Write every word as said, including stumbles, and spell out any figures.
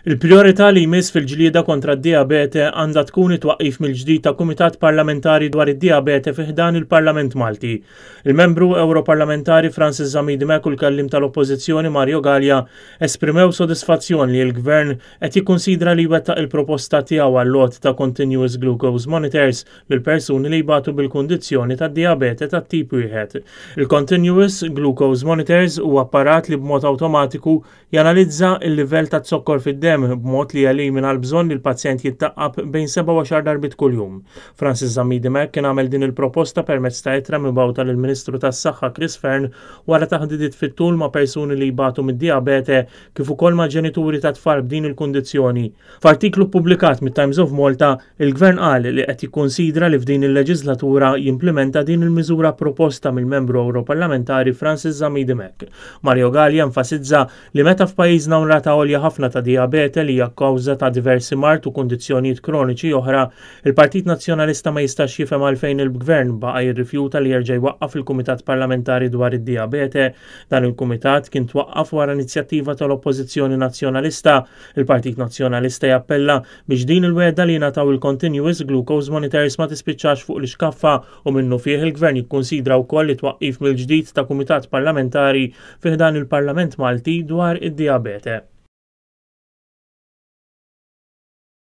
Il-priorità li jmiss fil-ġlieda kontra d-diabete għandha tkun it-twaqqif mill-ġdid ta' Kumitat Parlamentari dwar id-Diabete fi ħdan il-Parlament Malti. Il-membru Ewroparlamentari Francis Zammit Dimech u l-kelliem tal-Oppożizzjoni Mario Galea esprimew sodisfazzjon li l-Gvern qed jikkunsidra li jwettaq il-proposta tiegħu għall-għoti ta' Continuous Glucose Monitors lil persuni li jbatu bil-kundizzjoni tad-diabete tat-tip wieħed. Il-Continuous Glucose Monitors huwa apparat li b'mod awtomatiku janalizza il-livell ta' zokkor fid-demm b'mod li jelimina l-bżonn li l-pazjent jittaqqab bejn seba' u għaxar darbiet kuljum. Francis Zammit Dimech kien għamel din il-proposta permezz ta' ittra mibgħuta lill-Ministru tas-Saħħa Chris Fearne wara taħdidiet fit-tul ma' persuni li jbatu mid-diabete kif ukoll ma' ġenituri ta' tfal b'din il-kundizzjoni. F'artiklu ppubblikat mit-Times of Malta, il-Gvern qal li qed jikkonsidra li f'din il-leġislatura jimplementa din il-miżura proposta mill-membru Ewroparlamentari Francis Zammit Dimech. Mario Galea enfasizza li meta f'pajjiżna hawn rata għolja ħafna ta' diabete li hija kawża ta' diversi mard u kundizzjonijiet kroniċi oħra, il-Partit Nazzjonalista ma jistax jifhem għalfejn il-Gvern baqa' jirrifjuta li jerġa' jwaqqaf il-Kumitat Parlamentari dwar id-Diabete. Dan il-Kumitat kien twaqqaf wara inizjattiva tal-Oppożizzjoni Nazzjonalista. Il-Partit Nazzjonalista jappella biex din il-wegħda li jingħataw il-Continuous Glucose Monitors ma tispiċċax fuq l-iskaffa u minnufih il-Gvern jikkonsidra wkoll li twaqqif mill-ġdid ta' Kumitat Parlamentari fi ħdan il-Parlament Malti dwar id-diabete.